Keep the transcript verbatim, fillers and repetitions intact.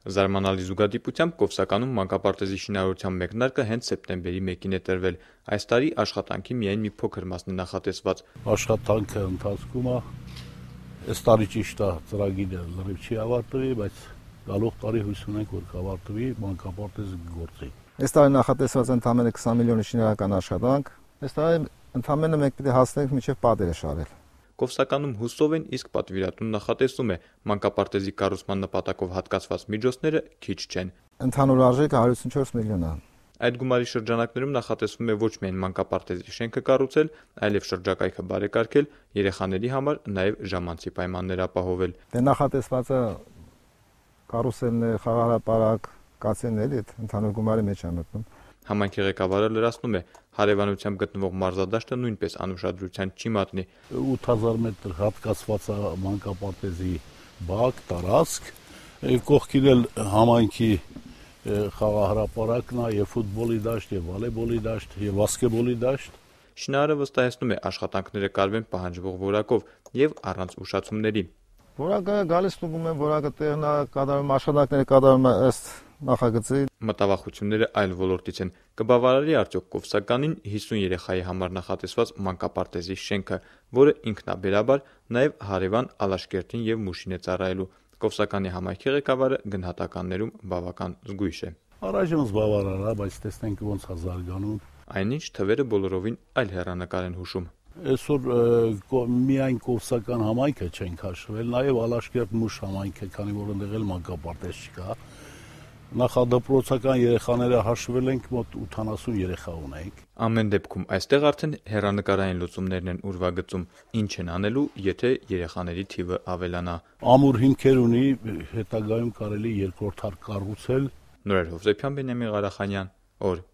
Զարմանալի զուգադիպությամբ Կովսականում մանկապարտեզի շինարարության մեկնարկը հենց սեպտեմբերի մեկին է տրվել։ Այս տարի աշխատանքի միայն մի փոքր մասն է նախատեսված։ Աշխատանքը ընթացքում է, այս տարի ճիշտ է ծրագիրը լրիվ չի ավարտվի, բայց գալող տարի հույս ունենք, որ կավարտվի, մանկապարտեզը գործի։ Այս տարի նախատեսված ընդամենը քսան միլիոնի շինարարական աշխատանք, այս տարի ընդամենը մենք պիտի հասնենք մինչև պատերը շարել։ Կովսականում հուսով են, իսկ պատվիրատուն նախատեսում է մանկապարտեզի կառուցման նպատակով հատկացված միջոցները քիչ չեն։ Ընդհանուր արժեքը հարյուր ութսունչորս միլիոն է։ Այդ գումարի շրջանակներում նախատեսվում է ոչ միայն մանկապարտեզի շենքը կառուցել, այլև շրջակայքը բարեկարգել, երեխաների համար նաև ժամանցի պայմաններ ապահովել։ Դե նախատեսվածը կարուսելներ, խաղահրապարակ, կացեններ, այդ ընդհանուր գումարի մեջ է մտնում։ Համայնքի ղեկավարը լրացնում է, հարևանությամբ գտնվող մարզադաշտը նույնպես անուշադրության չի մատնի։ ութ հազար մետր հատկացված է մանկապարտեզի բակ, տարածք, կողքին էլ համայնքի խաղահրապարակն է, եւ ֆուտբոլի դաշտ, եւ վոլեյբոլի դաշտ, եւ բասկետբոլի դաշտ։ Շինարարը վստահեցնում է, աշխատանքները կարվեն պահանջվող որակով եւ առանց ուշացումների։ Որակը գալիս ստուգում են, որակը տեղն է կատարում, աշխատանքները կատարում է ըստ նախագծի։ Մտավախությունները այլ ոլորտից են։ Կբավարարի արդյոք Կովսականին հիսուն երեխայի համար նախատեսված մանկապարտեզի շենքը, որը ինքնաբերաբար նաև հարևան Ալաշկերտին եւ Մուշին է ծառայելու։ Կովսականի համայնքի ղեկավարը գնահատականներում բավական զգույշ է։ Առայժմ զբաղարար է, բայց տեսնենք ոնց է զարգանում։ Այնինչ թվերը բոլորովին այլ հեռանկար են հուշում։ Այսօր միայն Կովսական համայնքը չենք հաշվել, նաև Ալաշկերտ Մուշ համայնքը, քանի որ այնտեղ էլ մանկապարտեզ չկա։ Նախադպրոցական երեխաները հաշվել ենք, մոտ ութանասուն երեխա ունենք։ Ամեն դեպքում այստեղ արդեն հեռանկարային լուծումներն են ուրվագծում, ինչ են անելու, եթե երեխաների թիվը ավելանա։ Ամուր հիմքեր ունի, հետագայում կարելի երկրորդ հարկ կառուցել։ Նորեր Հովսեփյան, Բենյամին Ղարախանյան, օր